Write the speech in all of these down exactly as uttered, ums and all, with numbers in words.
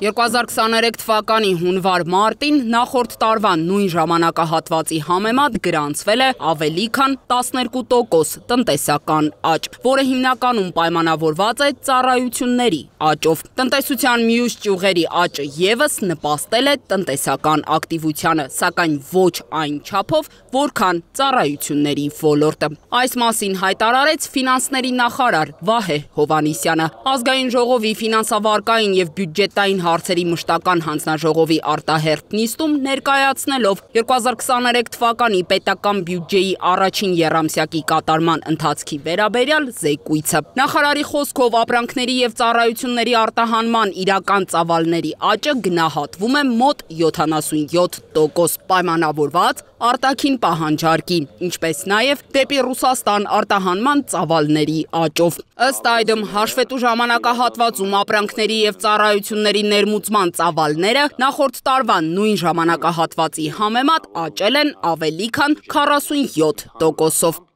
երկու հազար քսաներեք թվականի հունվար-մարտին նախորդ տարվա նույն ժամանակահատվածի համեմատ գրանցվել է ավելի քան տասներկու տոկոս տնտեսական աճ, որը հիմնականում պայմանավորված է ծառայությունների աճով։ Տնտեսության մյուս ճյուղերի աճը ևս նպաստել է տնտեսական ակտիվությանը, սակայն ոչ այն չափով, որքան ծառայությունների ոլորտը։ Այս մասին հայտարարեց ֆինանսների նախարար Վահե Հովհաննիսյանը։ Ազգային ժողովի ֆինանսավարկային և բյուջետային հարցերի մշտական հանձնաժողովի արտահերթ նիստում ներկայացնելով երկու հազար քսաներեք թվականի պետական բյուջեի առաջին եռամսյակի կատարման ընթացքի վերաբերյալ զեկույցը։ Նախարարի խոսքով ապրանքների և ծառայությունների արտահանման իրական ծավալների աճը գնահատվում է մոտ յոթանասունյոթ տոկոս, պայմանավորված արտաքին պահանջարկի, ինչպես նաև դեպի Ռուսաստան արտահանման ծավալների աճով։ Ըստ այդմ, հաշվետու ժամանակահատվածում ապրանքների և ծառայությունների ներմուծման ծավալները նախորդ տարվա նույն ժամանակահատվածի համեմատ աճել են ավելի քան քառասունյոթ տոկոսով։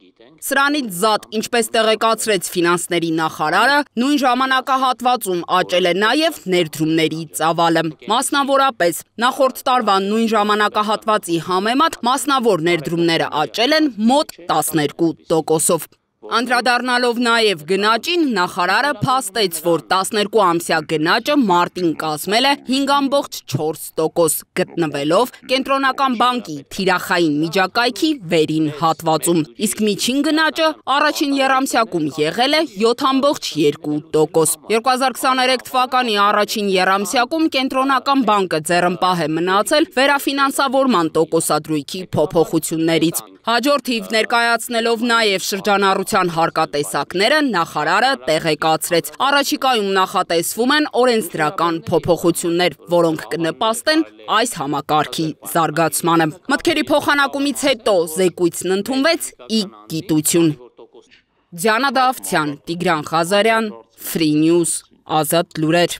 Սրանից զատ, ինչպես տեղեկացրեց ֆինանսների նախարարը, նույն ժամանակահատվածում աճել է նաև ներդրումների ծավալը։ Մասնավորապես, նախորդ տարվա նույն ժամանակահատվածի համեմատ մասնավոր ներդրումները աճել են մոտ տասներկու տոկոսով։ Անդրադառնալով նաև գնաճին, նախարարը փաստեց, որ տասներկու ամսյա գնաճը մարտին կազմել է հինգ ամբողջ չորս տոկոս, գտնվելով Կենտրոնական բանկի թիրախային միջակայքի վերին հատվածում, իսկ միջին գնաճը առաջին եռամսյակում եղել է յոթ ամբողջ երկու տոկոս։ երկու հազար քսաներեք թվականի առաջին եռամսյակում Կենտրոնական բանկը ձեռնպահ է մնացել վերաֆինանսավորման տոկոսադրույքի փոփոխություններից։ Հաջորդիվ ներկայացնելով նաև շրջանառության հարկատեսակները, նախարարը տեղեկացրեց. առաջիկայում նախատեսվում են օրենսդրական փոփոխություններ, որոնք կնպաստեն այս համակարգի զարգացմանը։ Մտքերի փոխանակումից հետո զեկույցն ընդունվեց ի գիտություն։ Դիանա Դավթյան, Տիգրան Ղազարյան, Free News, Ազատ լուրեր։